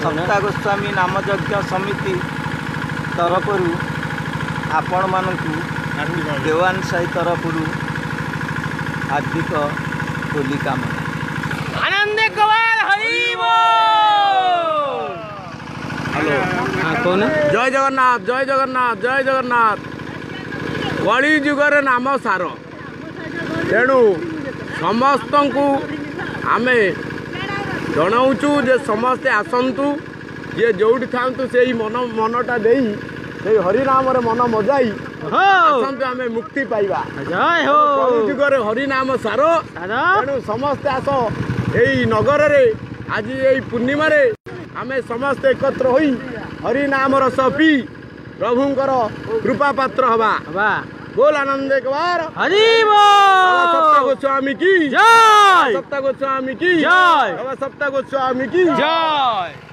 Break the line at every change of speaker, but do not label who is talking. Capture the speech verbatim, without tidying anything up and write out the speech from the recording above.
ସପ୍ତା ଗୋସ୍ୱାମୀ ନାମଯଜ୍ଞ ସମିତି ତରଫରୁ ଆପଣମାନଙ୍କୁ ଦେୱାନ ସାହି ତରଫରୁ ହାର୍ଦ୍ଦିକ ହୋଲି କାମନା।
ଆନନ୍ଦ ଗୋପାଳ ହରି ବୋଲ।
ହ୍ୟାଲୋ।
ହଁ, କହୁନ।
ଜୟ ଜଗନ୍ନାଥ, ଜୟ ଜଗନ୍ନାଥ, ଜୟ ଜଗନ୍ନାଥ। କଳି ଯୁଗରେ ନାମ ସାର। ତେଣୁ ସମସ୍ତଙ୍କୁ ଆମେ ଜଣାଉଛୁ ଯେ ସମସ୍ତେ ଆସନ୍ତୁ, ଯିଏ ଯୋଉଠି ଥାଆନ୍ତୁ, ସେଇ ମନ ମନଟା ଦେଇ, ସେଇ ହରିନାମରେ ମନ ମଜାଇ ଆସନ୍ତୁ, ଆମେ ମୁକ୍ତି ପାଇବା।
ଜୟ ହୋ।
କଳି ଯୁଗରେ ହରିନାମ ସାର।
ସାର।
ତେଣୁ ସମସ୍ତେ ଆସ, ଏଇ ନଗରରେ ଆଜି ଏଇ ପୂର୍ଣ୍ଣିମାରେ ଆମେ ସମସ୍ତେ ଏକତ୍ର ହୋଇ ହରିନାମ ରସ ପିଇ ପ୍ରଭୁଙ୍କର କୃପା ପାତ୍ର ହବା।
ହବା।
ବୋଲ ଆନନ୍ଦ ଏକବାର
ହରି ବୋଲ।
ସପ୍ତା ଗୋସ୍ୱାମୀ କି
ଜୟ।
ସପ୍ତା ଗୋସ୍ୱାମୀ କି
ଜୟ।
ସପ୍ତା ଗୋସ୍ୱାମୀ କି
ଜୟ।